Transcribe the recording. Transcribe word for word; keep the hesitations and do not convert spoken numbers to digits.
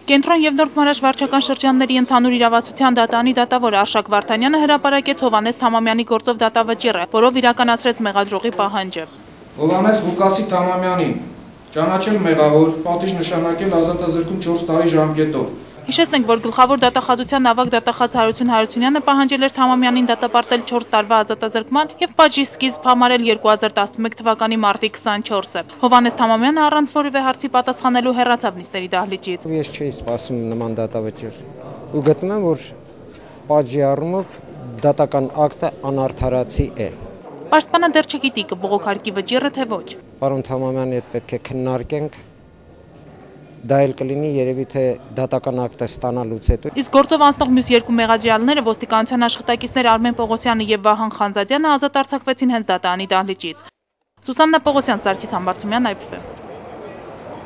Կենտրոն և Նոր Քմարաշ վարչական շրջանների ընդհանուր իրավասության դատարանի դատավոր Արշակ Վարդանյանը հրապարակեց Հովհաննես Թամամյանի գործով դատավճիռը, որով իրականացրեց մեղադրողի պահանջը։ Հովհաննես Ղուկասի Թամամյանին ճանաչել մեղավոր, պատիժ նշանակել ազատազրկում չորս տարի ժամկետով։ Հիշեցնենք, որ գլխավոր դատախազության ավագ դատախազ Հարություն Հարությունյանը պահանջել էր Թամամյանին դատապարտել չորս տարվա ազատազրկման և պատժի սկիզբ համարել երկու հազար տասնմեկ թվականի մարտի քսանչորսը։ Հովհաննես Թամամյանը առանց որևէ հարցի պատասխանելու հեռացավ նիստերի դահլիճից։ Ես չէի սպասում նման դատավճիռ ու գտնում եմ, որ պատժի առումով դատական ակտը անարդարացի է։ Պաշտպանը դեռ չգիտի կբողոքարկի վճիռը թե ոչ։ Պարոն Թամամյանի հետ պետք է քննարկենք։ Դա էլ կլինի երևի թե դատական ակտը ստանալուց հետո։ Իսկ գործով անցնող մյուս երկու մեղադրյալները ոստիկանության աշխատակիցներ Արմեն Պողոսյանը եւ Վահան Խանզադյանը ազատ արձակվեցին հենց դատարանի դահլիճից։ Սուսաննա Պողոսյան, Սարգիս Համբարձումյան, Այ Փ Ֆ։